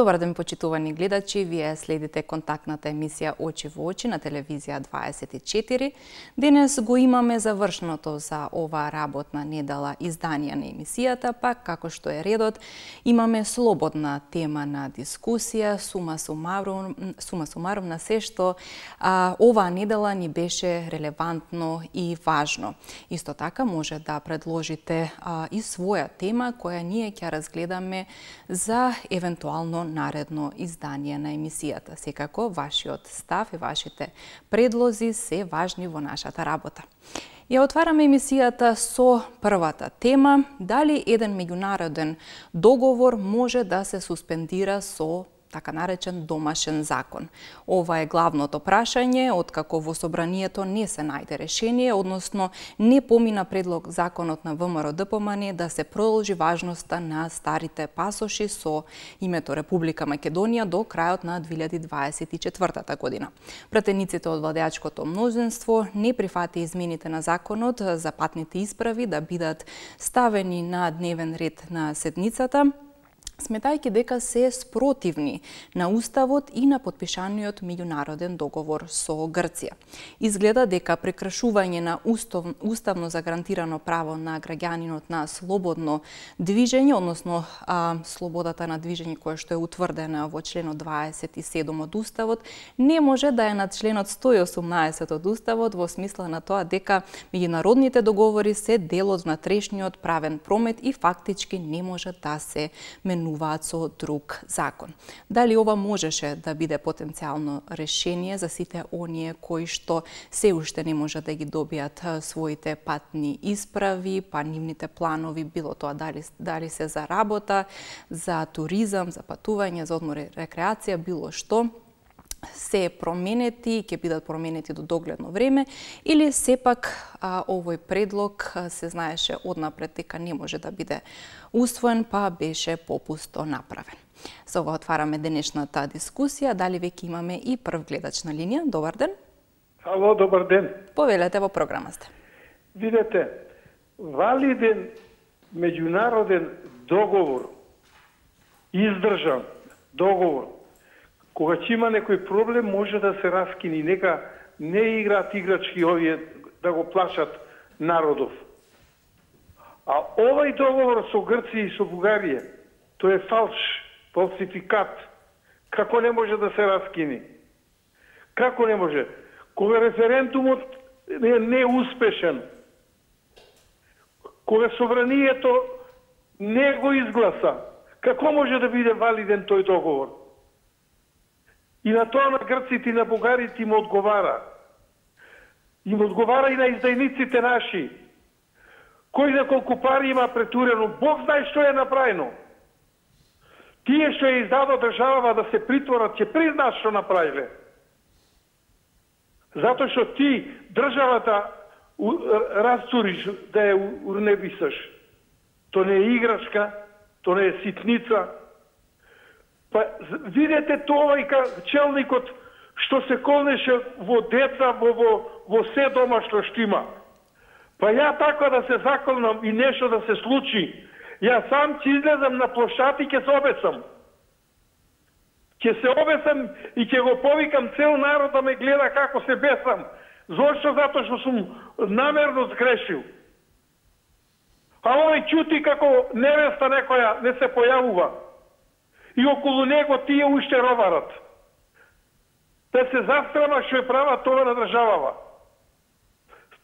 Добар ден, почитувани гледачи, вие следите контактната емисија Очи во очи на телевизија 24. Денес го имаме завршното за оваа работна недела издание на емисијата, па како што е редот, имаме слободна тема на дискусија, сума сумарум на се што оваа недела ни беше релевантно и важно. Исто така може да предложите и своја тема која ние ќе разгледаме за евентуално наредно издание на емисијата. Секако, вашиот став и вашите предлози се важни во нашата работа. Ја отвараме емисијата со првата тема, дали еден меѓународен договор може да се суспендира со така наречен домашен закон. Ова е главното прашање, откако во собранието не се најде решение, односно не помина предлог законот на ВМРО ДПМН да се продолжи важноста на старите пасоши со името Република Македонија до крајот на 2024 година. Пратениците од владеачкото мнозинство не прифати измените на законот за патните исправи да бидат ставени на дневен ред на седницата, сметајќи дека се спротивни на Уставот и на подпишаниот меѓународен договор со Грција. Изгледа дека прекршување на уставно загарантирано право на граѓанинот на слободно движење, односно слободата на движење која што е утврдена во членот 27 од Уставот, не може да е над членот 118 од Уставот во смисла на тоа дека меѓународните договори се дел од внатрешниот правен промет и фактички не може да се менуваат со друг закон. Дали ова можеше да биде потенцијално решение за сите оние кои што се уште не може да ги добијат своите патни исправи, па нивните планови, било тоа дали се за работа, за туризам, за патување, за одмор и рекреација, било што, се променети, ќе бидат променети до догледно време, или сепак овој предлог се знаеше однапред дека не може да биде усвоен, па беше попусто направен. Со ова отвараме денешната дискусија. Дали веќе имаме и прв гледач на линија? Добар ден. Ало, добар ден. Повелете, во програма сте. Видете, валиден меѓународен договор, издржан договор, кога ќе има некој проблем, може да се раскини. Нека не играат играчки овие да го плашат народов. А овој договор со Грција и со Бугарија, тој е фалш, фалсификат. Како не може да се раскини? Како не може? Кога референдумот е неуспешен, кога собранието не го изгласа, како може да биде валиден тој договор? И на тоа на грците и на бугарите им одговара. Им одговара и на издајниците наши. Кој за колку пари има претурено, Бог знае што е направено. Тие што е издадо државава да се притворат, ќе признаат што направиле. Затоа што ти државата растуриш да ја урнебисаш. То не е играчка, то не е ситница. Па видете тоа и челникот што се колнеше во деца, во се домашно што има. Па ја така да се заколнам и нешто да се случи, ја сам ќе излезам на плошад и ќе се обесам. Ќе се обесам и ќе го повикам цел народ да ме гледа како се бесам. Зошто? Затоа што сум намерно сгрешил. А овој ќути како невеста некоја не се појавува. И околу него тие уште роварат. Да се застрама што е права тоа на државава.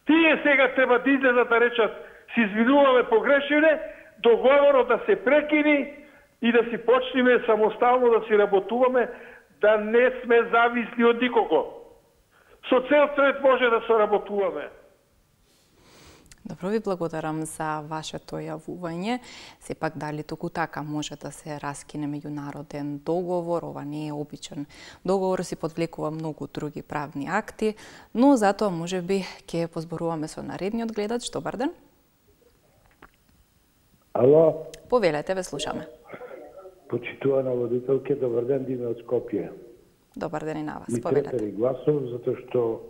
Тие сега треба да излезат да речат си извинуваме, погрешиле, договорот да се прекини и да си почнеме самостално да си работуваме, да не сме зависни од никого. Со цел свет може да соработуваме. Добро, ви благодарам за вашето јавување. Сепак, дали туку така може да се раскине меѓународен договор? Ова не е обичен договор, си подвлекува многу други правни акти, но затоа можеби ќе позборуваме со наредниот гледач. Добар ден. Ало. Повелете, ве слушаме. Почитувана водителке, добар ден, Диме од Скопје. Добар ден и на вас, Ми повелете. требали гласов, затоа што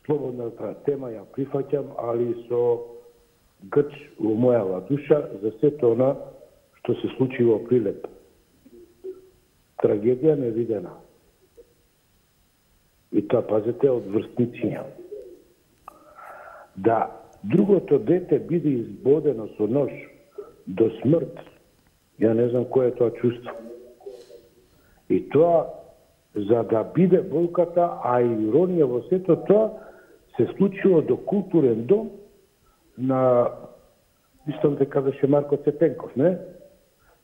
слободната тема ја прифаќам, али со грч во мојава душа за сето она што се случи во Прилеп. трагедија невидена. И тоа, пазете, од врстниција. Да другото дете биде избодено со нож до смрт, ја не знам кој е тоа чувство. И тоа, за да биде болката, а и иронија во сето тоа, се случило до културен дом на, мислам дека беше Марко Цепенков, не?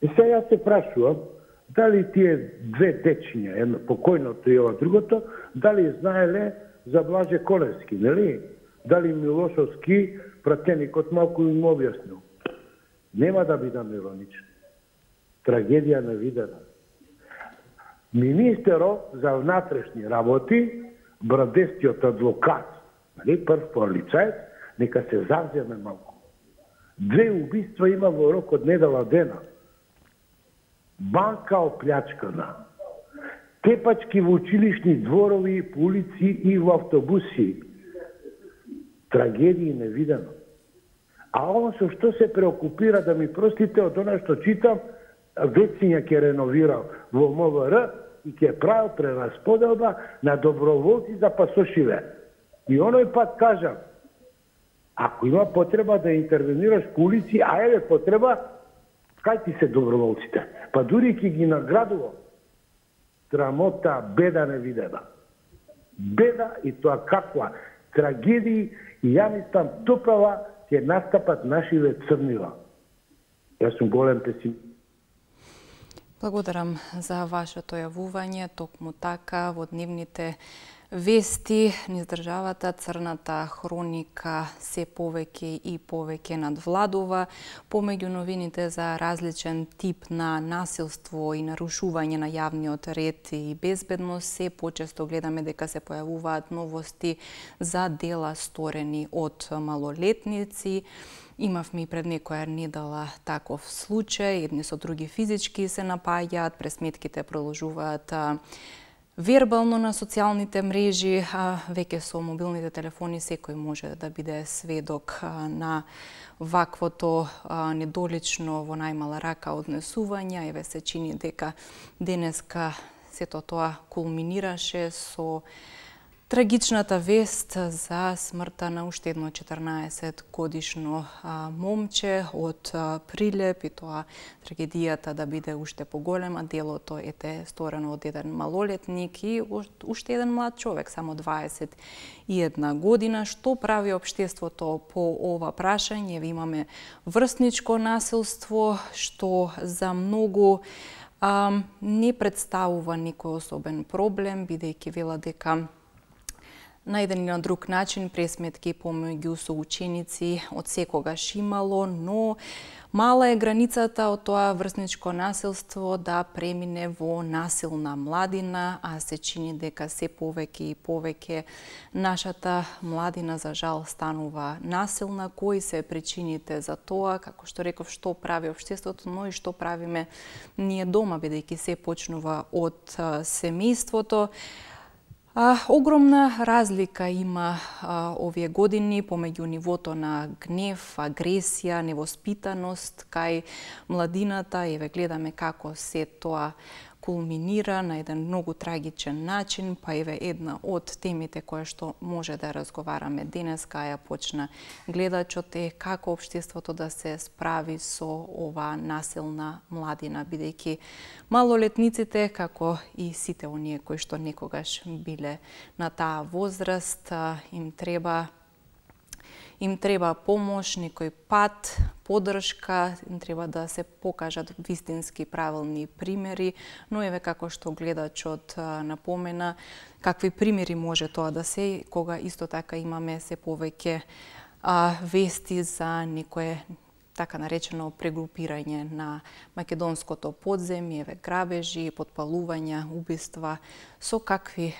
И сега јас се прашувам, дали тие две дечиња, едно покојното и ова другото, дали знаеле за Блаже Колевски, нели? Дали Милошовски, пратеникот, малку им објаснил. Нема да бидам ироничен. Трагедија невидена. Министерот за внатрешни работи, брадестиот адвокат, нали, прв полицаец, нека се завземе малку. 2 убиства има во рок од недела дена. Банка оплячкана. Тепачки во училишни дворови, по улици и во автобуси. Трагедија невидено. А он со што се преокупира, да ми простите, од она што читам, вециња ќе реновирал во МВР и ќе правил прерасподелба на доброволци за пасошиве. И оној пат кажам, ако има потреба да интервенираш по улици, а еве потреба, кај ти се доброволците? Па дури ќе ги наградува. Срамота, беда невидена. Беда и тоа каква. Трагедии и ја мислам топава ќе настапат нашиве црнила. Јас сум голем песимист. Благодарам за вашето јавување. Токму така во дневните вести низ државата црната хроника се повеќе и повеќе надвладува. Помеѓу новините за различен тип на насилство и нарушување на јавниот ред и безбедност, се почесто гледаме дека се појавуваат новости за дела сторени од малолетници. Имавме и пред некоја недела таков случај, едни со други физички се напаѓаат, пресметките продолжуваат вербално на социјалните мрежи, а веќе со мобилните телефони секој може да биде сведок на ваквото недолично во најмала рака однесување. Еве се чини дека денеска сето тоа кулминираше со трагичната вест за смртта на уште едно 14-годишно момче од Прилеп, и тоа трагедијата да биде уште поголема. Делото ете сторено од еден малолетник и уште еден млад човек, само 21 година. Што прави општеството по ова прашање? Имаме врсничко насилство, што за многу не представува некој особен проблем, бидејќи вела дека на еден или на друг начин пресметки помеѓу соученици од секогаш имало, но мала е границата од тоа врсничко насилство да премине во насилна младина, а се чини дека се повеќе и повеќе нашата младина за жал станува насилна. Кои се причините за тоа? Како што реков, што прави општеството, но и што правиме ние дома, бидејќи се почнува од семејството. Огромна разлика има овие години помеѓу нивото на гнев, агресија, невоспитаност кај младината. Еве гледаме како се тоа кулминира на еден многу трагичен начин, па еве една од темите која што може да разговараме денеска, ја почна гледачот, е како општеството да се справи со ова насилна младина, бидејќи малолетниците, како и сите оние кои што некогаш биле на таа возраст, им треба помош, некој пат, поддршка, им треба да се покажат вистински правилни примери, но еве како што гледачот напомена, какви примери може тоа да се, кога исто така имаме се повеќе вести за некое така наречено прегрупирање на македонското подземје, грабежи, подпалувања, убиства, со какви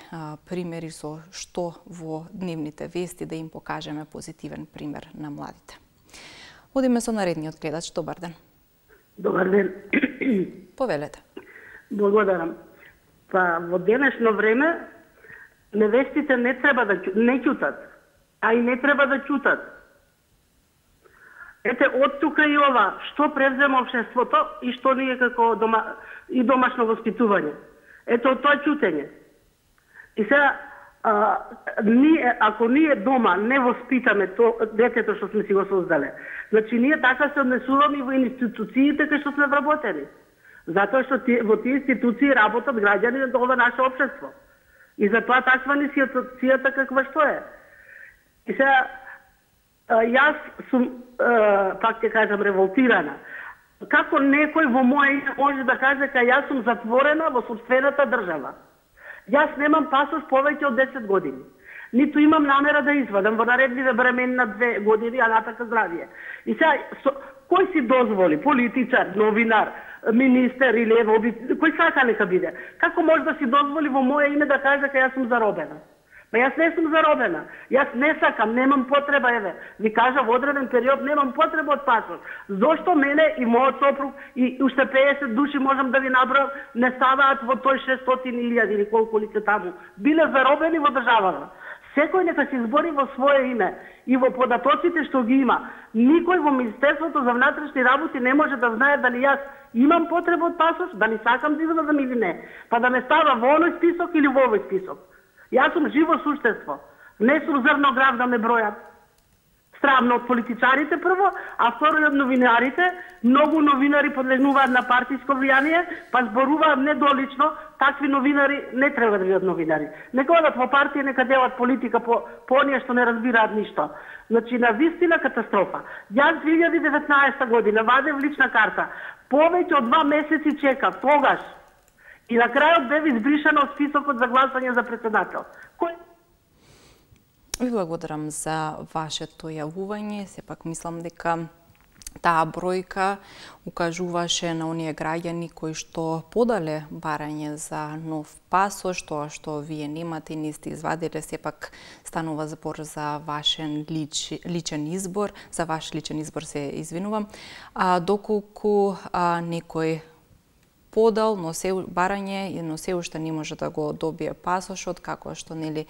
примери, со што во дневните вести да им покажеме позитивен пример на младите. Одиме со наредниот гледач. Добар ден. Добар ден. Повелете. Благодарам. Па во денешно време невестите не треба да не ќутат, а и не треба да ќутат. Ете, од тука и ова, што превзема општеството и што ние како домашно воспитување. Ето тоа чутење. И сега, ако ние дома не воспитаме детето што сме си го создале, значи ние така се однесуваме и во институциите кај што сме вработени. Затоа што во тие институции работат граѓани на ова наше општество. И затоа таква ни ситуацијата каква што е. И сега, јас сум, пак ќе кажам, револтирана. Како некој во моје име може да каже дека јас сум затворена во собствената држава? Јас немам пасош повеќе од 10 години. Ниту имам намера да извадам во наредниве времена на 2 години, а натака здравие. И сега, кој си дозволи, политичар, новинар, министер или кој сака нека биде? Како може да си дозволи во моје име да каже дека јас сум заробена? Па јас не сум заробена. Јас не сакам, немам потреба, еве. Ви кажа во одреден период немам потреба од пасош. Зошто мене и мојот сопруг и уште 50 души можам да ви набројам не ставаат во тој 600.000 или колку ли се таму. Биле заробени во државата. Секој нека се избори во свое име и во податоците што ги има. Никој во Министерството за внатрешни работи не може да знае дали јас имам потреба од пасош, дали сакам да извадам или не. Па да ме става во оној список или во овој список. Јас сум живо суштество. Не сум зрноград да ме бројат. Страмно од политичарите прво, а второ и од новинарите. Многу новинари подлежнуваат на партиско влијание, па зборуваат недолично. Такви новинари не треба да бидат новинари. Нека одат во партија, нека делат политика по оние што не разбираат ништо. Значи, на вистина катастрофа. Јас 2019 година вадев лична карта. Повеќе од 2 месеци чекав, тогаш. И на крајот бев избришана од списокот за гласање за председател. Ви благодарам за вашето јавување. Сепак мислам дека таа бројка укажуваше на оние граѓани кои што подале барање за нов пасош, тоа што вие немате, не сте извадиле, сепак станува збор за вашен личен избор, за ваш личен избор се извинувам, доколку некој подал, но се барање, но се уште не може да го добие пасошот, како што нели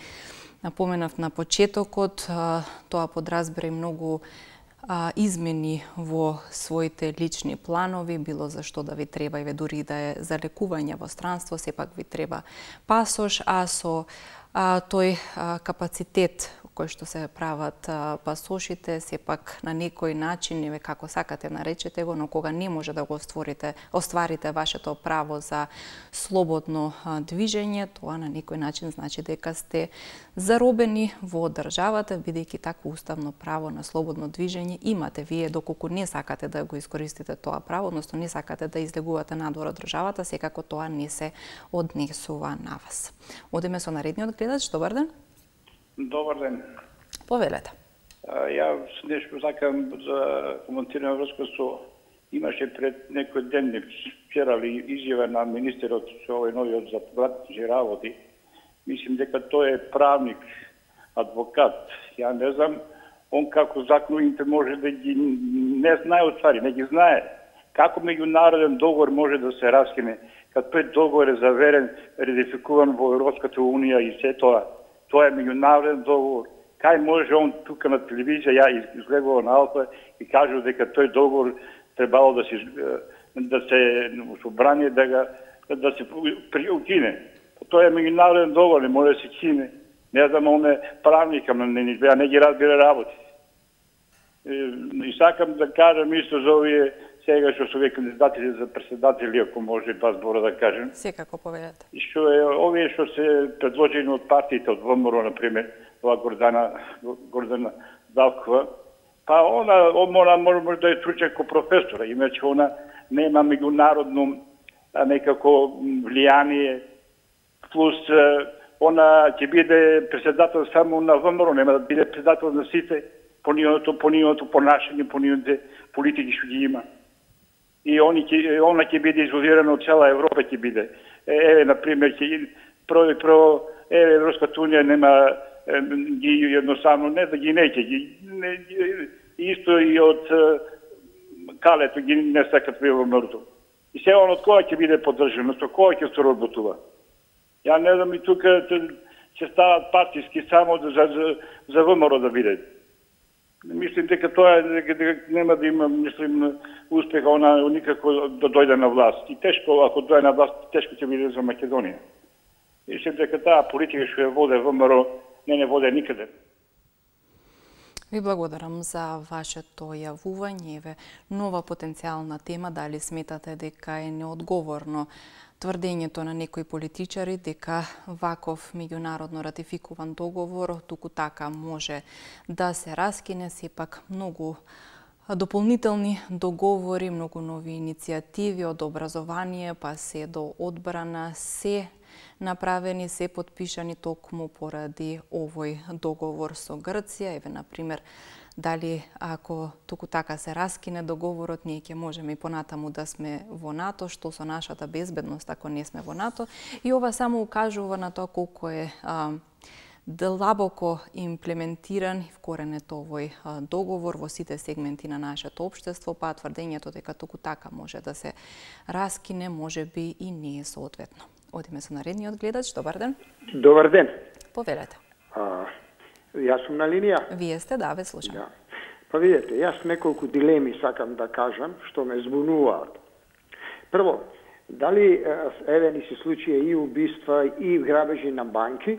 напоменав на почетокот, тоа подразбира и многу измени во своите лични планови, било за што да ви треба, и дури да е за лекување во странство, сепак ви треба пасош, а со тој капацитет кој што се прават пасошите, сепак на некој начин, еве како сакате наречете го, но кога не може да го остварите вашето право за слободно движење, тоа на некој начин значи дека сте заробени во државата, бидејќи такво уставно право на слободно движење имате вие, доколку не сакате да го искористите тоа право, односно не сакате да излегувате надвор од државата, секако тоа не се однесува на вас. Одиме со наредниот гледач. Добар ден. Добар ден. Повелете. Јас нешто сакам да коментирам врска со имаше пред некој ден вчера ли изјава на министерот со овој новиот за внатрешни работи. Мислим дека тој е правник, адвокат. Ја не знам он како законите може да ги не знае отвари, не ги знае. Како меѓународен договор може да се раскине, кад тој договор е заверен, ратификуван во Европската унија и се тоа. Тоа е меѓународен договор. Кај може он тука на телевизија, ја изгледував на Алфа и кажу дека тој договор требало да се собрание да се укине. Тоа е меѓународен договор, не може да се кине. Не знам, он е правника, не ги разбира работи. И сакам да кажам исто за овие сега што се кандидатите за председатели, ако може два збора да кажем. Секако повелете. И што е овие што се предложени од партиите, од ВМРО, например, ова Гордана Давкова, па она може да е тручен ко професора, иначе она нема меѓународно некако влијание, плюс она ќе биде председател само на ВМРО, нема да биде председател на сите, по нивното понашање, по нивните политики што ги има. И она ќе биде изолирана од цела Европа, ќе биде. Еве, например, прво Европската унија нема ги едноставно, не да ги неќе, исто и од Калето ги не сакат во мртво. И сега он од која ќе биде поддржано, со која ќе се работува. Ја не знам, и тука ќе стават партиски само за ВМРО да биде. Мислим дека тоа нема да има, мислим, успеха она никако да дојде на власт. И тешко, ако дојде на власт, тешко ќе биде за Македонија. Мислим дека таа политика што ја воде ВМРО не воде никаде. Ви благодарам за вашето јавување. Еве, нова потенцијална тема, дали сметате дека е неодговорно тврдењето на некои политичари дека ваков меѓународно ратификуван договор туку така може да се раскине, сепак многу дополнителни договори, многу нови иницијативи од образование па се до одбрана се направени, се подпишани токму поради овој договор со Грција. Еве, например, дали ако туку така се раскине договорот, ние ќе можеме и понатаму да сме во НАТО, што со нашата безбедност ако не сме во НАТО. И ова само укажува на тоа колку е длабоко имплементиран и вкоренет овој договор во сите сегменти на нашето општество, па тврдењето дека туку така може да се раскине, може би и не е соодветно. Одиме со наредниот гледач. Добар ден. Добар ден. Повелете. Јас сум на линија. Вие сте, да, ве слушам. Да. Па видете, јас неколку дилеми сакам да кажам што ме збунуваат. Прво, дали еве ни се случија и убиства и грабежи на банки,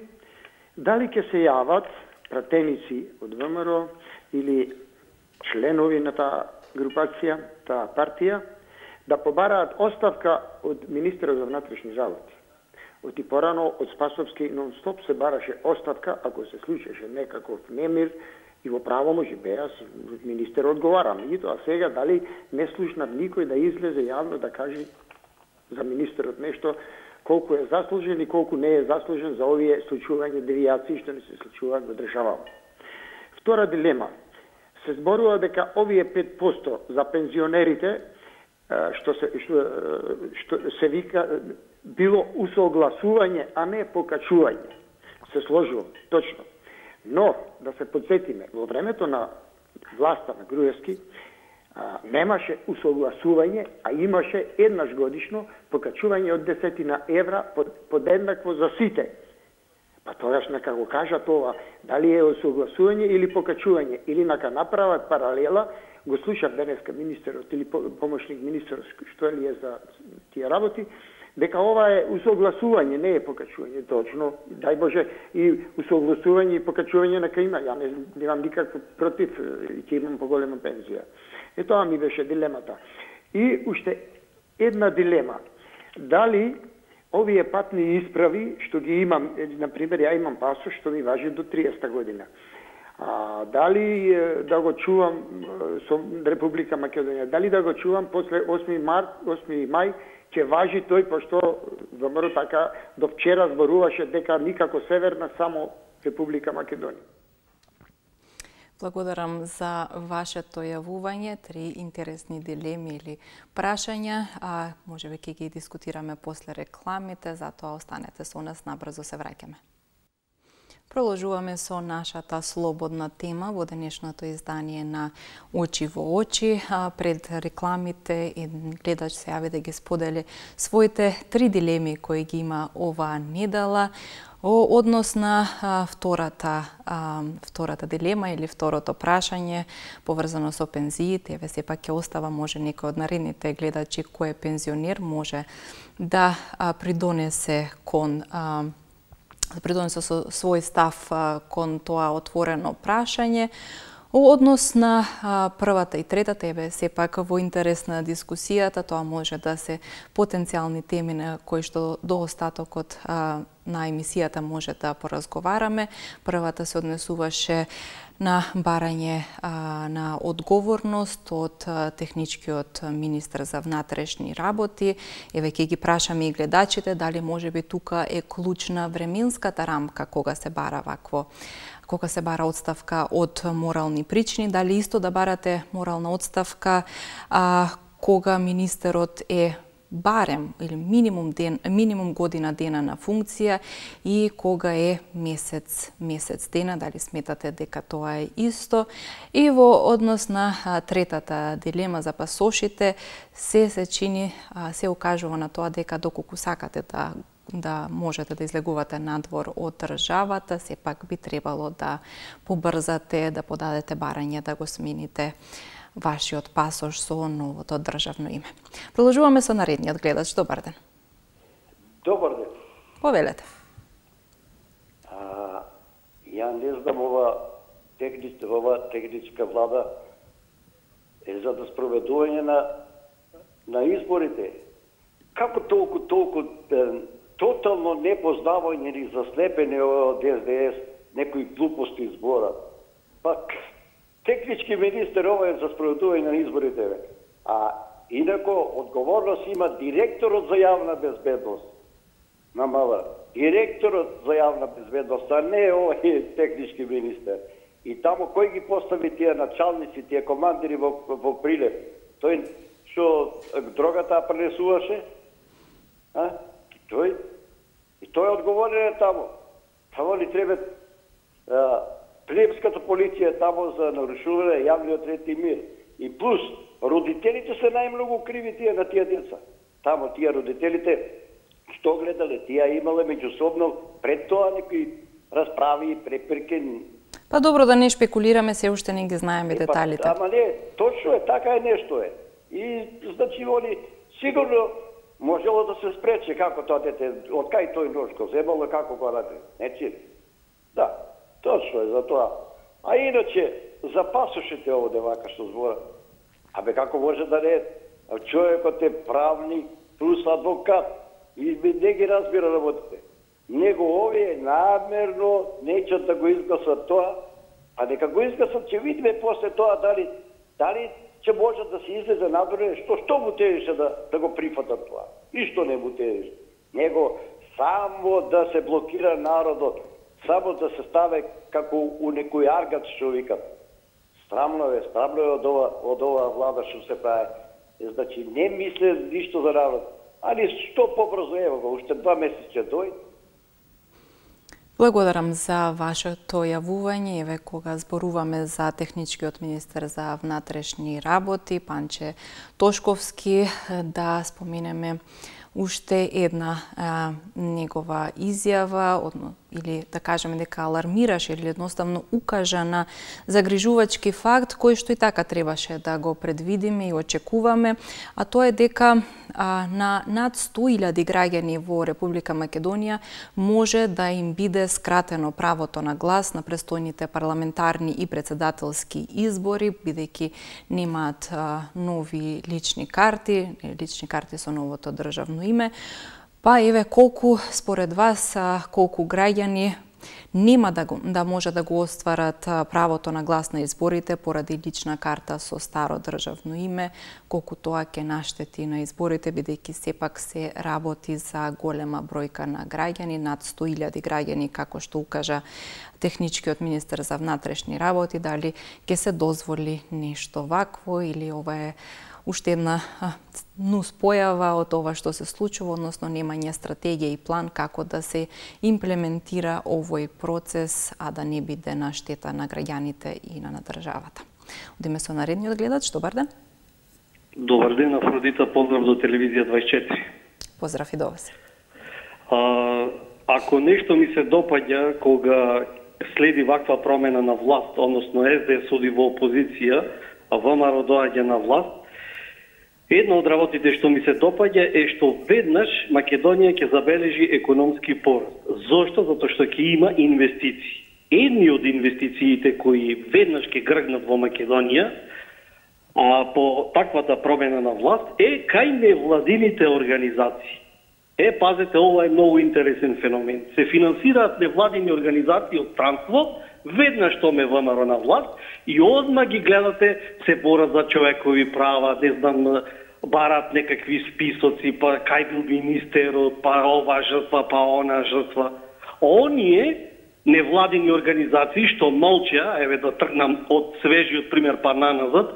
дали ќе се јават пратеници од ВМРО или членови на таа групација, таа партија, да побараат оставка од министерот за внатрешни работи. Оти порано од Спасовски нон-стоп се бараше оставка ако се случеше некаков немир и во право може беа министер одговарам. И тоа сега дали не слушнат никој да излезе јавно да каже за министерот нешто колку е заслужен и колку не е заслужен за овие случувања девијации што не се случуваат во државава. Втора дилема. Се зборува дека овие 5% за пензионерите што се вика било усогласување, а не покачување. Се сложило, точно. Но, да се подсетиме, во времето на власта на Груевски немаше усогласување, а имаше еднаш годишно покачување од 10 евра подеднакво за сите. Па тогаш нека го кажат ова, дали е усогласување или покачување, или нека направат паралела. Го слушав денеска министерот или помошник министерот што ли е за тие работи, дека ова е усогласување, не е покачување, точно. Дај Боже, и усогласување и покачување нека има. Ја не имам никакво против, ќе имам поголема пензија. Е тоа ми беше дилемата. И уште една дилема. Дали овие патни исправи, што ги имам, например, ја имам пасош што ми важи до 30 година. Дали да го чувам со Република Македонија, дали да го чувам после 8 мај, ќе важи тој, пошто ВМРО така до вчера зборуваше дека никако Северна, само Република Македонија. Благодарам за вашето јавување, 3 интересни дилеми или прашања, можеби ќе ги дискутираме после рекламите, затоа останете со нас, набрзо се враќаме. Продолжуваме со нашата слободна тема во денешното издание на Очи во очи. Пред рекламите гледач се јави да ги сподели своите 3 дилеми кои ги има оваа недела однос на втората дилема или второто прашање поврзано со пензиите. Еве сепак ќе остава, може некој од наредните гледачи кој е пензионер може да придонесе со свој став кон тоа отворено прашање. Однос на првата и третата, еве сепак во интерес на дискусијата, тоа може да се потенцијални теми на кои што до остатокот на емисијата може да поразговараме. Првата се однесуваше на барање на одговорност од техничкиот министер за внатрешни работи. Еве ќе ги прашаме и гледачите дали можеби тука е клучна временската рамка кога се бара одставка од морални причини, дали исто да барате морална одставка кога министерот е барем или минимум година дена на функција и кога е месец дена, дали сметате дека тоа е исто. И во однос на третата дилема за пасошите, се укажува на тоа дека доколку сакате да да можете да излегувате надвор од државата, сепак би требало да побрзате, да подадете барање да го смените вашиот пасош со новото државно име. Продолжуваме со наредниот гледач. Добар ден. Добар ден. Повелете. Ја не знам, ова техничка влада е за да спроведување на изборите. Како толку тотално непознавање или заслепени од СДС некои глупости зборат. Пак, технички министер ова е за спроведување на изборите. А инако, одговорност има директорот за јавна безбедност на МВР. Директорот за јавна безбедност, а не овој технички министер. И тамо кој ги постави тие началници, тие командири во Прилеп? Тој што дрогата пренесуваше? Тој е одговорен тамо. Тамо ли треба Прилепската полиција тамо за нарушување јавниот ред и мир. И плюс, родителите се најмногу криви тие на тие деца. Тамо тие родителите што гледале, тие имале меѓусобно пред тоа некои расправи и препирки. Па добро, да не шпекулираме, се уште не ги знаеме деталите. Ама не, точно е, така е нешто е. И значи они сигурно можело да се спрече како тоа дете, од кај тој нож го земало, како го ради. Нечи? Да, точно е за тоа. А иначе, за пасошите овде вака што збора. Абе како може да не, човекот е правник плюс адвокат и не ги разбира работите. Него овие намерно нечат да го изгласат тоа, а нека го изгласат, ќе видиме после тоа дали ќе може да се излезе надвор, што му тежеше да го прифатат тоа. И што не му тежеше. Него само да се блокира народот, само да се ставе како у некој аргат што викат. Срамно е од ова влада што се прави. Значи не мисле ништо за народ. Али што побрзо ево го, уште 2 месеци дојде. Благодарам за вашето јавување. Еве кога зборуваме за техничкиот министер за внатрешни работи, Панче Тошковски, да споменеме уште една негова изјава, или да кажеме дека алармираше или едноставно укажа на загрижувачки факт кој што и така требаше да го предвидиме и очекуваме, а тоа е дека на над 100.000 граѓани во Република Македонија може да им биде скратено правото на глас на престојните парламентарни и председателски избори, бидејќи немаат нови лични карти со новото државно име. Па еве колку според вас колку граѓани нема да може да го остварат правото на глас на изборите поради лична карта со старо државно име, колку тоа ќе наштети на изборите, бидејќи сепак се работи за голема бројка на граѓани, над 100.000 граѓани, како што укажа техничкиот министер за внатрешни работи, дали ќе се дозволи нешто вакво или ова е уште една нуспојава од ова што се случува, односно немање стратегија и план како да се имплементира овој процес, а да не биде на штета на граѓаните и на државата. Одиме со наредниот гледач. Добар ден. Добар ден, Афродита, поздрав до телевизија 24. Поздрав и до вас. Ако нешто ми се допаѓа кога следи ваква промена на власт, односно СДС оди во опозиција, а ВМРО доаѓа на власт, една од работите што ми се допаѓа е што веднаш Македонија ќе забележи економски пораст. Зошто? Затоа што ќе има инвестиции. Едни од инвестициите кои веднаш ќе гргнат во Македонија по таквата промена на власт е кај невладините организации. Пазете, ова е многу интересен феномен. Се финансираат невладини организации од странство, веднаш што ме ВМРО на власт и одма ги гледате, се борат за човекови права, не знам, барат некакви списоци, па кај бил министерот, па ова жртва, па она жртва. Оние невладини организации што молча, еве да тргнам од свежиот пример па наназад,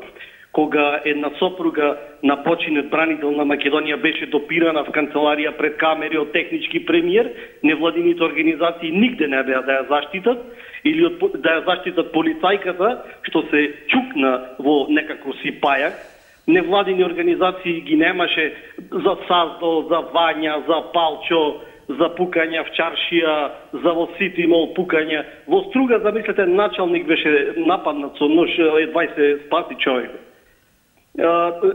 кога една сопруга на починет бранител на Македонија беше допирана в канцеларија пред камери од технички премиер, невладините организации нигде не беа да ја заштитат, или да ја заштитат полицајката, што се чукна во некако си пајак. Невладини организации ги немаше за Саздо, за Вања, за Палчо, за пукања в чаршија, за во Сити мол пукања. Во Струга, замислете, началник беше нападнат со нож, едва се спаси човек.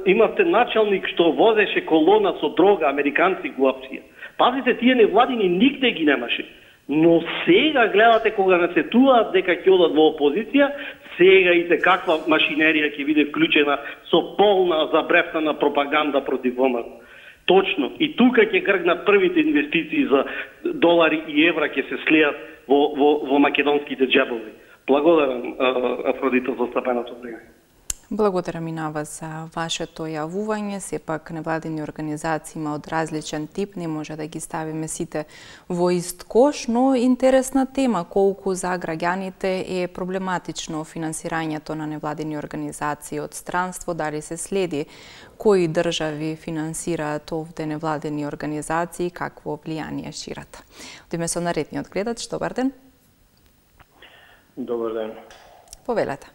Имавте началник што возеше колона со дрога, американци главција. Пазите, тие невладини нигде ги немаше. Но сега гледате кога насетуваат дека ќе одат во опозиција, сега и каква машинерија ќе биде вклучена со полна забрефнана пропаганда против ВМРО. Точно. И тука ќе гргнат првите инвестиции за долари и евра ќе се слеат во македонските џебови. Благодарам, Афродита, за стапеното време. Благодарам и на вас за вашето јавување. Сепак невладини организации има од различен тип, не може да ги ставиме сите во ист кош, но интересна тема колку за граѓаните е проблематично финансирањето на невладини организации од странство, дали се следи кои држави финансираат овде невладини организации, какво влијание шират. Одиме со наредниот гледач. Добар ден. Добар ден. Повелете.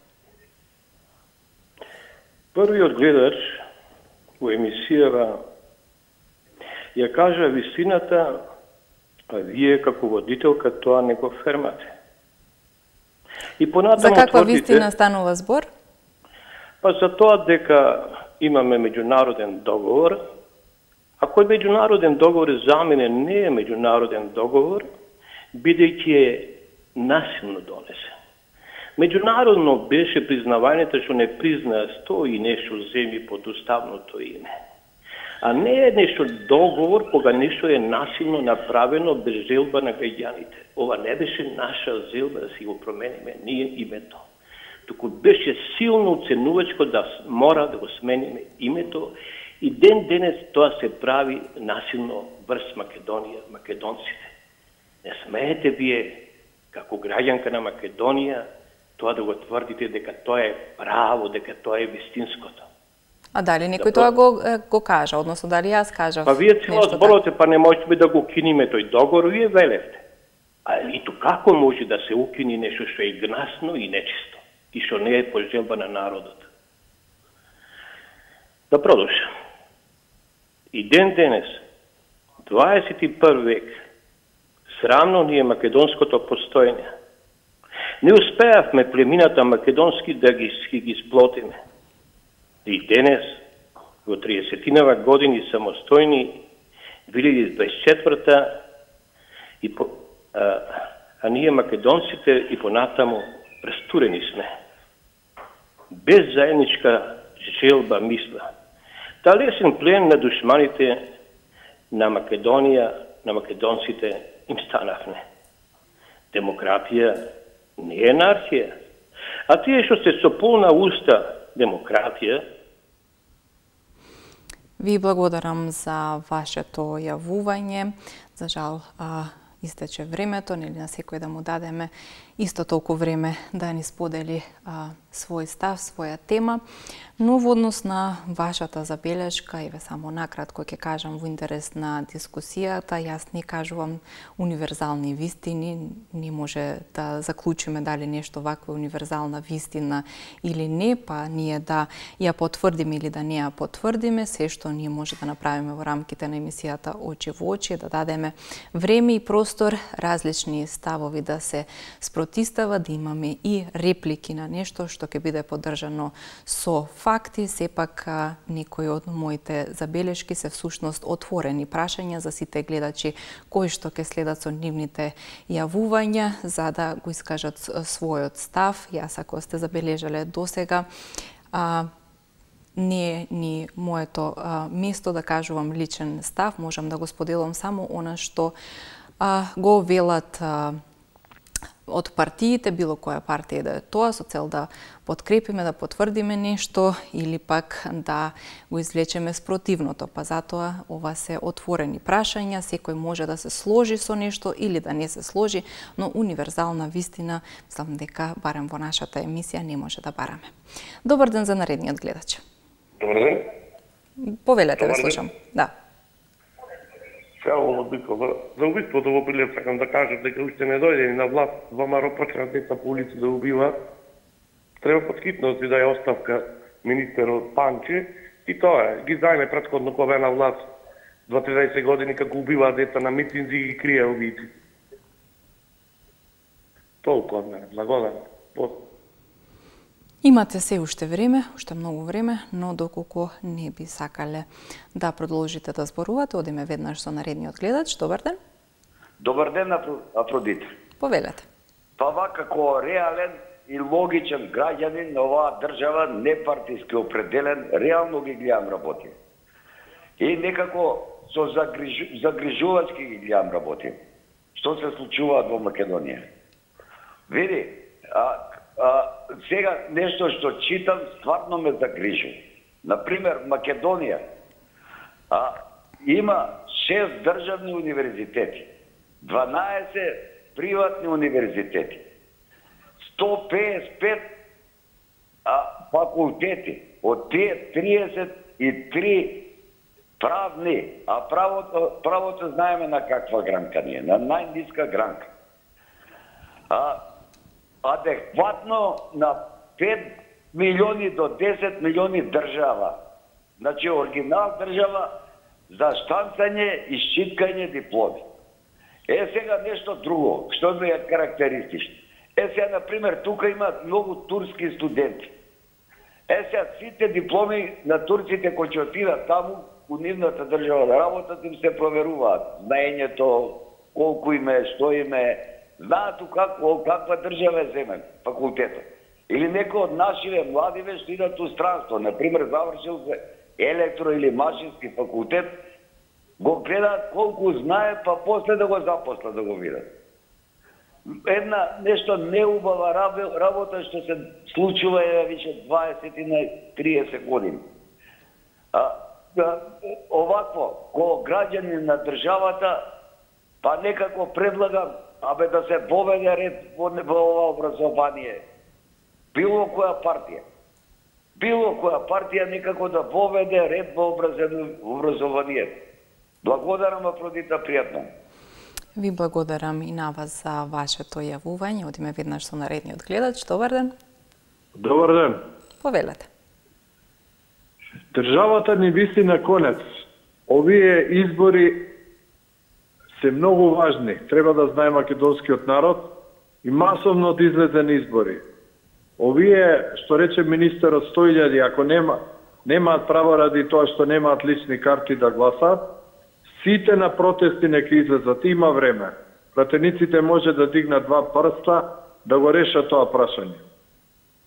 Првиот гледач во емисијава ја кажа вистината, а вие како водителка тоа не го фермате. И понатаму за каква тврдите, вистина станува збор? Па за тоа дека имаме меѓународен договор, а кој меѓународен договор заменен не е меѓународен договор, бидејќи е насилно донесен. Меѓународно беше признавањето што не признаа 100 и нешто земји под уставното име. А не е нешто договор кога нешто е насилно направено без желба на граѓаните. Ова не беше наша желба да си го промениме ние името. Туку беше силно оценувачко да мора да го смениме името и ден денес тоа се прави насилно врз Македонија, македонците. Не смеете вие како граѓанка на Македонија тоа да го тврдите дека тоа е право, дека тоа е вистинското. А дали некој тоа го кажа, односно дали јас кажав? Па вие цело зборувате, па не можеме да го укинеме тој договор, вие велевте. А ито како може да се укини нешто што е гнасно и нечисто и што не е по желба на народот? Да продолжам. И ден денес, 21 век, срамно ни е македонското постоење. Не успеавме племината македонски да ги сплотиме. И денес, во 30-тинава години самостојни, 2024-та, а ние македонците и понатаму растурени сме. Без заедничка желба мисла. Та лесен плен на душманите на Македонија, на македонците им станавме. Демократија не е анархија. А тие што се со полна уста демократија. Ви благодарам за вашето јавување. За жал, истече времето, нели на секој да му дадеме исто толку време да ни сподели свој став, своја тема, но во однос на вашата забелешка, еве само накратко ќе кажам во интерес на дискусијата, јас не кажувам универзални вистини, не може да заклучиме дали нешто вакво универзална вистина или не, па ние да ја потврдиме или да не ја потврдиме, се што ние може да направиме во рамките на емисијата Очи во очи, да дадеме време и простор различни ставови да се спротистава, да имаме и реплики на нешто што ќе биде поддржано со факти. Сепак некои од моите забелешки се всушност отворени прашања за сите гледачи кои што ќе следат со нивните јавувања за да го искажат својот став. Јас ако сте забележале досега, не е ни моето место да кажувам личен став, можам да го споделам само она што го велат од партиите, било која партија да е тоа, со цел да подкрепиме, да потврдиме нешто или пак да го извлечеме спротивното. Па затоа ова се отворени прашања, секој може да се сложи со нешто или да не се сложи, но универзална вистина, мислам дека барем во нашата емисија не може да бараме. Добар ден за наредниот гледач. Добар ден. Повелете, ве слушам. Да. Цяло за убиството во Прилеп сакам да кажам дека уште не дојде на власт, ВМРО почнат деца по улица да убиваат. Треба подхитно да даде оставка министерот Панче и тоа е. Ги зајме претходно кога бе на власт 20 години како убиваат деца на митинзи и ги крие убијци. Толку од мене. Благодарам. Имате се уште време, уште многу време, но доколку не би сакале да продолжите да зборувате, одиме веднаш со наредниот гледач. Добар ден. Добар ден, Афродита. Повелете. Па како реален и логичен граѓанин на оваа држава, непартиски определен, реално ги гледам работи. И некако со загрижувачки ги гледам работи. Што се случува во Македонија? Види, сега нешто што читам стварно ме загрижува. Например, Македонија има 6 државни универзитети, 12 приватни универзитети, 155 факултети, од тие 33 правни, а правото знаеме на каква гранка ние, на најниска гранка. Адекватно на 5 милиони до 10 милиони држава. Значи, оригинал држава за штанцање и шчиткање дипломи. Сега нешто друго, што ми е карактеристично. Сега, например, тука има многу турски студенти. Сега сите дипломи на турците кои ќе отидат таму, у нивната држава да работат, им се проверуваат. Знаењето, колку име, што име, знаат каква држава е земен, факултетот. Или некој од нашиве младиве што идат у странство, например, завршил се електро или машински факултет, го гледаат колку знае, па после да го запослат да го видат. Една нешто неубава работа што се случува више 20 на 30 години. Овакво, ко граѓани на државата, па некако предлагам да се поведе ред во ова образование. Било која партија некако да поведе ред во образование. Благодарам, Афродита, пријатно. Ви благодарам и на вас за вашето јавување. Одиме веднаш со наредниот гледач. Добар ден. Добар ден. Повелете. Државата ни виси на конец. Овие избори се многу важни. Треба да знае македонскиот народ и масовно да излезе на избори. Овие, што рече министерот 100.000, ако немаат право ради тоа што немаат лични карти да гласаат, сите на протести нека излезат. Има време. Пратениците може да дигнат 2 прста да го решат тоа прашање.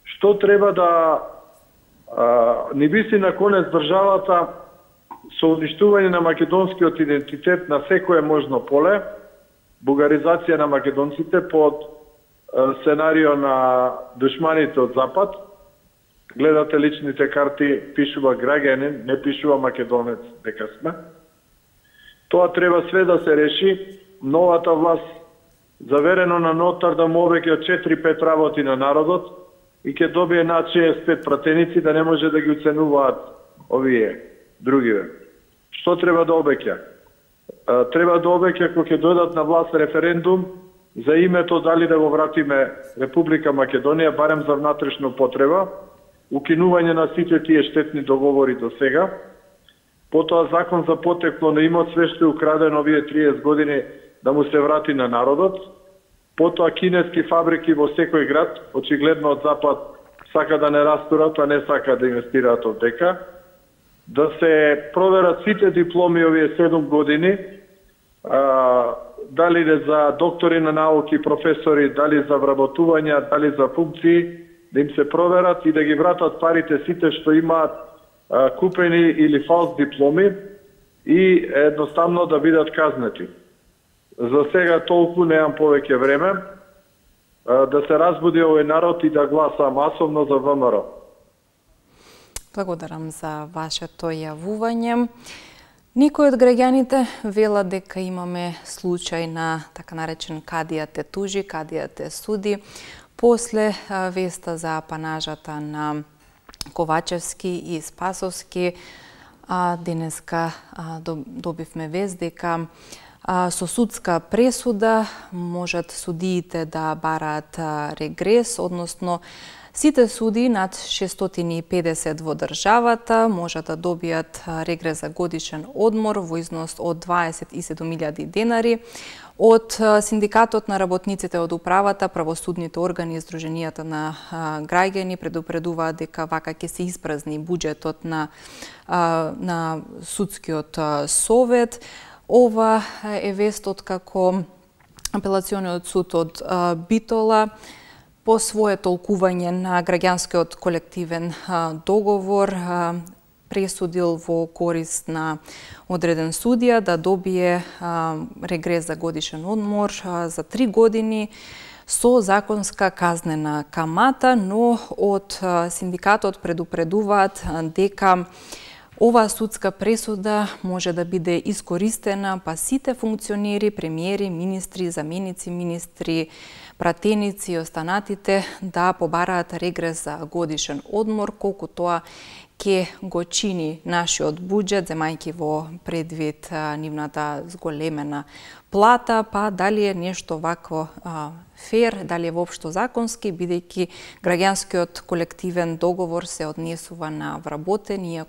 Што треба да ни виси на конец државата со уништување на македонскиот идентитет на секое можно поле, бугаризација на македонците под сценарио на душманите од Запад. Гледате личните карти, пишува граѓанин, не пишува македонец дека сме. Тоа треба све да се реши. Новата власт, заверено на нотар, да му обеќе од 4-5 работи на народот и ќе добие над 65 пратеници да не може да ги оценуваат овие другиве. Што треба да обеќа? Треба да обеќа кога ќе дојдат на власт референдум за името дали да го вратиме Република Македонија, барем за внатрешна потреба, укинување на сите тие штетни договори до сега, потоа закон за потекло на имот, све што е украдено овие 30 години да му се врати на народот, потоа кинески фабрики во секој град, очигледно од Запад сака да не растурат, а не сака да инвестираат овдека, да се проверат сите дипломи овие 7 години, дали за доктори на науки, професори, дали за вработувања, дали за функции, да им се проверат и да ги вратат парите сите што имаат купени или фалс дипломи и едноставно да бидат казнети. За сега толку, немам повеќе време, да се разбуди овој народ и да гласа масовно за ВМРО. Благодарам за вашето јавување. Некои од граѓаните велат дека имаме случај на така наречен кадија те тужи, кадија те суди, после веста за апанажата на Ковачевски и Спасовски. Денеска добивме вест дека со судска пресуда можат судиите да бараат регрес, односно Сите суди над 650 во државата може да добијат регрес за годишен одмор во износ од 27.000 денари. Од Синдикатот на работниците од управата, правосудните органи и Сдруженијата на граѓани предупредуваат дека вака ќе се испразни буџетот на судскиот совет. Ова е вестот како Апелациониот суд од Битола по свое толкување на граѓанскиот колективен договор пресудил во корист на одреден судија да добие регрес за годишен одмор за 3 години со законска казнена камата, но од синдикатот предупредуваат дека оваа судска пресуда може да биде искористена па сите функционери, премиери, министри, заменици министри, пратеници и останатите да побараат регрес за годишен одмор, колку тоа ќе го чини нашиот буџет, земајќи во предвид нивната зголемена плата, па дали е нешто вакво фер, дали е воопшто законски, бидејќи граѓанскиот колективен договор се однесува на вработени,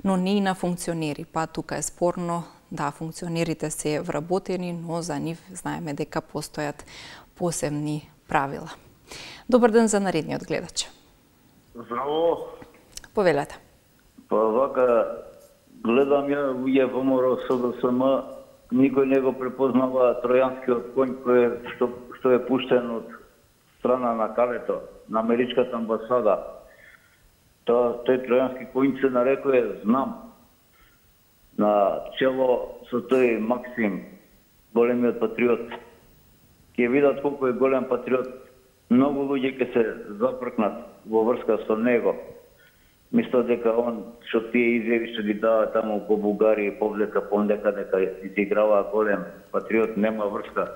но не и на функционери. Па тука е спорно, да, функционерите се вработени, но за нив знаеме дека постојат посебни правила. Добар ден за наредниот гледач. Здраво. Повелете. Па вака, гледам ја луѓе ВМРО СДСМ, никој не го препознава тројанскиот конј што е пуштен од страна на Калето, на Америчката амбасада. Тој тројански конј се нарекува Знам. На чело со тој Максим, големиот патриот. Ќе видат колку е голем патриот. Многу луѓе ќе се запркнат во врска со него. Мисля дека он што тие изјави што ги дава таму по Бугарија и повлека дека изиграва голем патриот, нема врска.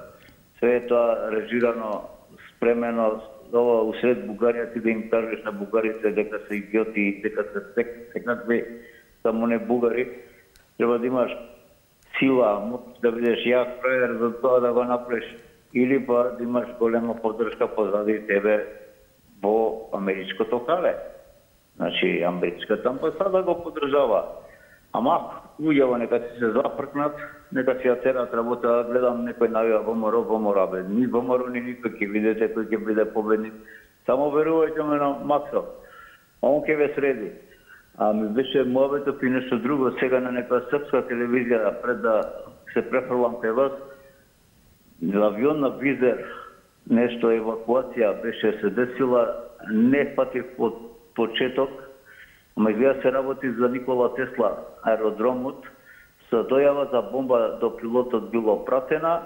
Све е тоа режирано, спремено, ова усред Бугарија ти да им кажеш на бугарите дека се идиоти, дека се секнакви само не бугари. Треба да имаш сила, моќ да бидеш јак фраер за тоа да го направиш, или па да имаш голема поддршка позади тебе во америчкото кале. Значи, америчката амбасада го поддржава. Ама, луѓето нека се запркнат, нека се ја терат работа, гледам некој навија ВМРО, бе. Ни ВМРО, ни никој ќе видите кој ќе биде победник. Само верувајте ме на Максо. Он ќе ве среди. А ми беше муабето и нешто друго, сега на некоја српска телевизија, пред да се префрлам кај вас, авион на Визер, нешто евакуација беше се десила, не патив од почеток, ама изгледа се работи за Никола Тесла, аеродромот, со дојава за бомба до пилотот било пратена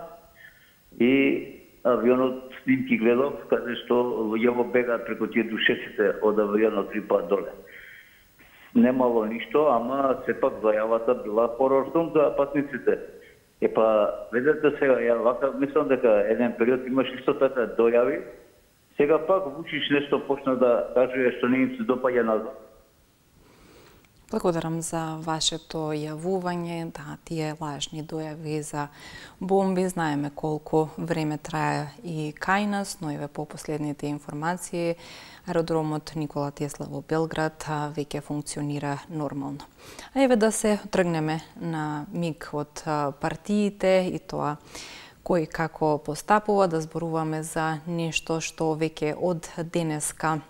и авионот снимки гледав, каде што луѓето бегаат преку тие душеците од авионот 3 пат доле. Немало ништо, ама сепак зајавата била хорорством за патниците. Епа, видете сега, ја вака мислам дека еден период имаш исто така дојави. Сега пак Вучич нешто почна да кажува што не им се допаѓа назад. Благодарам за вашето јавување. Да, тие лажни дојави за бомби, знаеме колку време трае и кај нас, но еве по последните информации, аеродромот Никола Тесла во Белград веќе функционира нормално. А еве да се тргнеме на миг од партиите и тоа кој како постапува, да зборуваме за нешто што веќе од денеска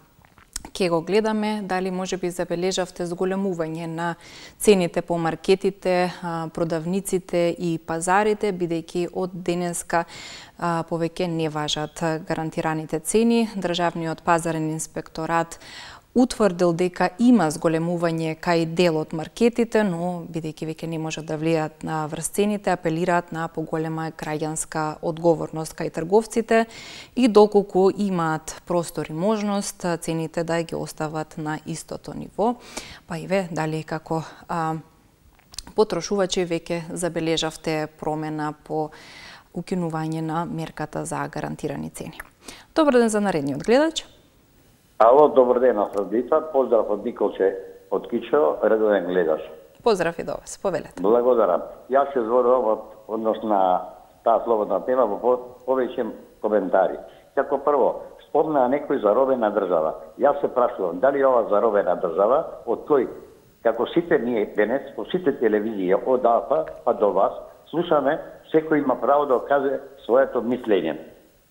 ќе го гледаме, дали може би забележавте зголемување на цените по маркетите, продавниците и пазарите, бидејќи од денеска повеќе не важат гарантираните цени. Државниот пазарен инспекторат утврдил дека има зголемување кај дел од маркетите, но бидејќи веќе не можат да влијаат на врсцените, апелираат на поголема граѓанска одговорност кај трговците и доколку имаат простор и можност цените да ги остават на истото ниво. Па и ве, дали како потрошувачи веќе забележавте промена по укинување на мерката за гарантирани цени. Добар ден за наредниот гледач. Ало, добар ден, Афродита. Поздрав од Николче од Кичево, редовен гледаш. Поздрав и до вас, повелете. Благодарам. Јас се зборувам од однос на таа слободна тема во повеќе коментари. Како прво, спомна некој заробена држава. Јас се прашувам, дали ова заробена држава, од кој, како сите ние денес, по сите телевизии, од АФА па до вас, слушаме, секој има право да каже своето мислење.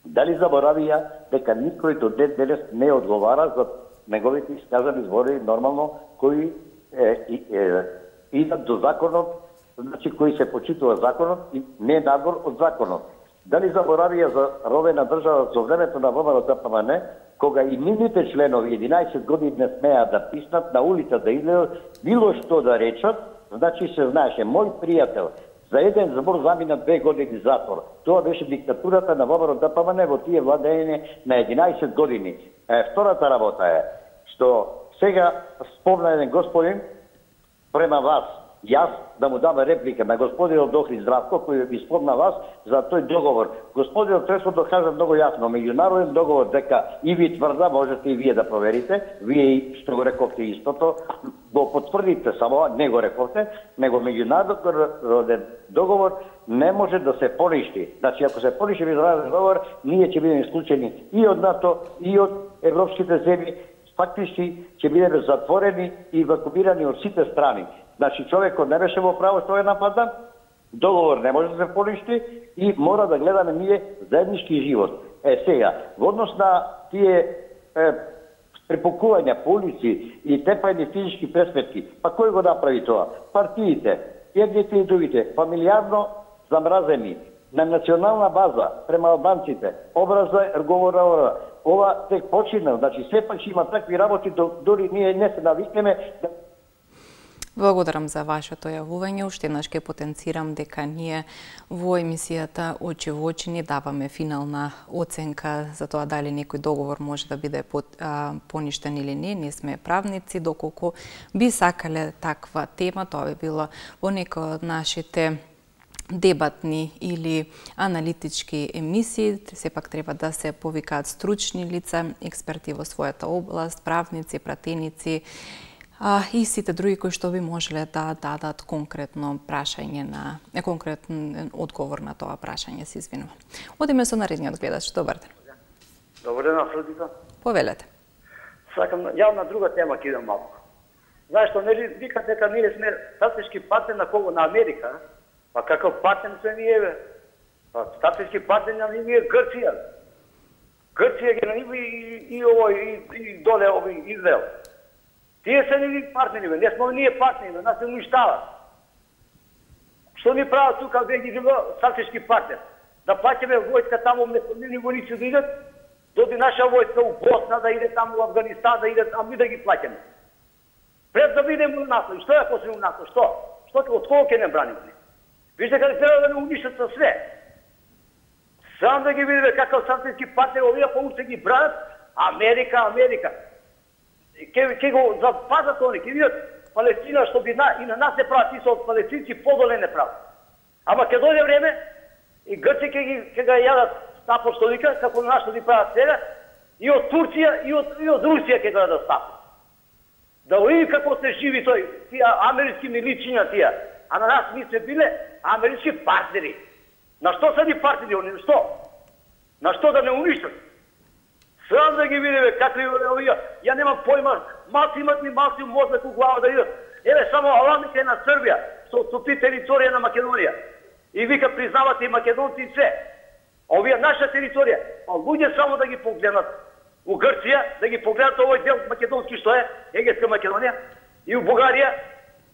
Дали заборавија дека никој до ден денес не одговара за неговите искажани збори нормално, кои идат до законот, значи кои се почитува законот и не надвор од законот. Дали заборавија за робена држава за времето на ВМРО-ДПМН, кога и нивните членови 11 години не смеа да писнат на улица да излезат, било што да речат, значи се знаеше, мој пријател за еден збор замина 2 години затвор. Тоа беше диктатурата на ВМРО-ДПМН во тие владење на 11 години. Втората работа е, што сега спомна еден господин према вас, јас да му дам реплика на господинот Дохри Здравко, кој ви спомна вас за тој договор. Господинот Тресо докажа многу јасно, меѓународен договор дека и ви тврда, можете и вие да проверите, вие што го рековте истото, го потврдите само, не го рековте, него меѓународен договор не може да се поништи. Значи, ако се поништи меѓународен договор, ние ќе бидеме исклучени и од НАТО, и од европските земји, фактички ќе бидеме затворени и вакуумирани од сите страни. Значи, човекот не беше во право што е нападан, договор не може да се поништи и мора да гледаме ние заеднички живот. Сега, во однос на тие препукувања по улици и тепајни физички пресметки, па кој го направи тоа? Партиите, едните и другите, фамилиарно замразени, на национална база, према албанците, образа, говора, ова тек почина, значи сепак ќе има такви работи, дори ние не се навикнеме да... Благодарам за вашето јавување. Уште еднаш ќе потенцирам дека ние во емисијата Очи во очи не даваме финална оценка за тоа дали некој договор може да биде поништен или не. Не сме правници, доколку би сакале таква тема, тоа би било во некој од нашите дебатни или аналитички емисии. Сепак треба да се повикаат стручни лица, експерти во својата област, правници, пратеници, и сите други кои што би можеле да дадат конкретно прашање на конкретен одговор на тоа прашање, се извинувам. Одиме со наредниот гледач. Добар ден. Добар ден, Афродита. Повелете. Сакам ја на друга тема ќе идам малку. Знаеш што нели викат дека ние сме стратешки партнер на кого, на Америка? Па каков партнер сме ние бе? Па стратешки партнер на ние Грција. Грција ги на нив и овој и доле овој Израел. Тие се ни партнери, бе. Не сме ние партнери, бе. Нас се уништават. Што ни прават тука, бе, ги стратешки партнер? Да плаќаме војска таму, вместо нивни војници да идат, доди наша војска у Босна, да иде таму у Афганистан, да иде, а ми да ги плаќаме. Пред да бидеме у НАТО. И што ја после у НАТО? Што? Од кого ќе не браниме? Вижте каде треба да не уништат со све. Сам да ги видиме какав стратешки партнер, овие по-уште ги бранат, Америка. Ке го запазат они, ке видат Палестина, што би и на нас се прават и со палестинци подоле не прават. Ама ке дојде време и Грци ке ga јадат апостолика, како на нас што ги прават сега, и од Турција и од Русија ке да стапат. Да види како се живи тој, тие амерички миличиња тие. А на нас ми се биле амерички партнери. На што се ни партнери они? Што? На што да не уништат? Срам да ги видиме какви овие. Ја немам појма, малци имат ми малци мозок у глава да идат. Еве само Аланите е на Србија, со ти територија на Македонија. И вика признавате и македонци и се. Овие наша територија. А луѓе само да ги погледнат у Грција, да ги погледнат овој дел македонски што е, Егејска Македонија, и у Бугарија,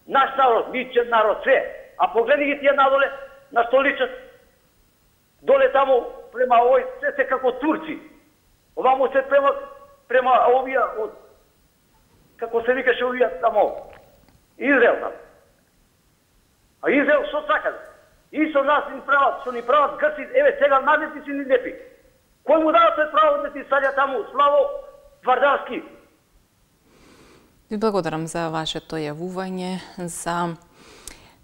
наш народ, мичен народ, се. А погледи ги тие надоле, на што личат. Доле таму, према овој, се како турци. Овамо се према овие од, како се викаше овие тамо, Израел там. А Израел што сакат? И со нас што ни прават Грци, еве сега назети си ни лепи. Кој му дава тој право да ти саѓа таму, Славо Твардарски? Ви благодарам за вашето јавување, за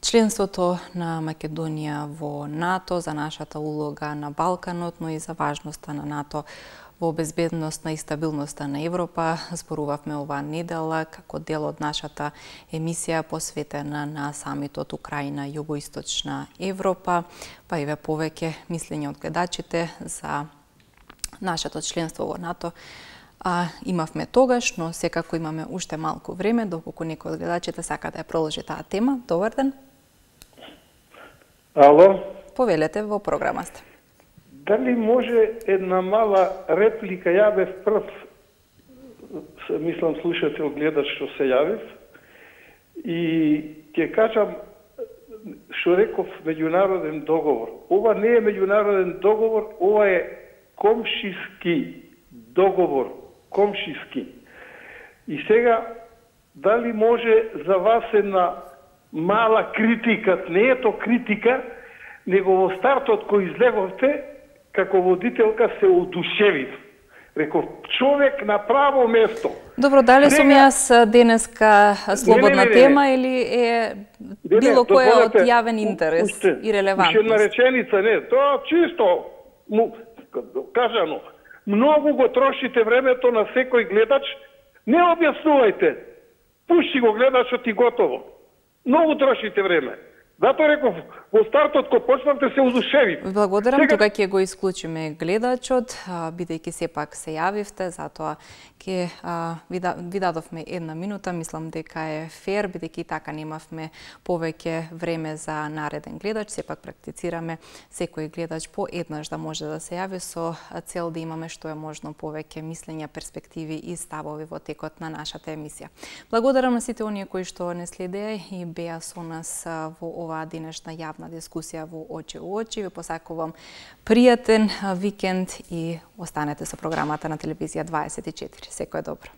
членството на Македонија во НАТО, за нашата улога на Балканот, но и за важноста на НАТО во безбедноста и стабилноста на Европа. Зборувавме оваа недела како дел од нашата емисија посветена на самитот Украина Југоисточна Европа. Па еве повеќе мислење од гледачите за нашето членство во НАТО имавме тогаш, но секако имаме уште малку време, доколку некој од гледачите сака да ја продолжи таа тема. Добар ден. Ало? Повелете, во програма сте. Дали може една мала реплика? Ја бев прв, мислам, слушател, гледач што се јавив, и ќе кажам што реков меѓународен договор. Ова не е меѓународен договор, ова е комшиски договор, комшиски. И сега, дали може за вас една мала критика, не е то критика, него во стартот кој излеговте, како водителка се одушевив. Реков, човек на право место. Добро, дали сум јас денеска слободна тема или е било која од јавен интерес и релевантност? Уште една реченица, не, тоа чисто кажано. Многу го трошите времето на секој гледач, не објаснувајте. Пушти го гледачот и готово. Многу трошите време. Затоа реков, во стартот кога почнавте се удушеви. Благодарам, сега... тука ќе го исклучиме гледачот, бидејќи сепак се јавивте, затоа ќе ви дадовме една минута, мислам дека е фер, бидејќи така немавме повеќе време за нареден гледач, сепак практицираме секој гледач по еднаш да може да се јави со цел да имаме што е можно повеќе мислења, перспективи и ставови во текот на нашата емисија. Благодарам на сите оние кои што не следеа и беа со нас во оваа денешна јавна дискусија во Очи у очи. Ви посакувам пријатен викенд и останете со програмата на телевизија 24. Секој добро.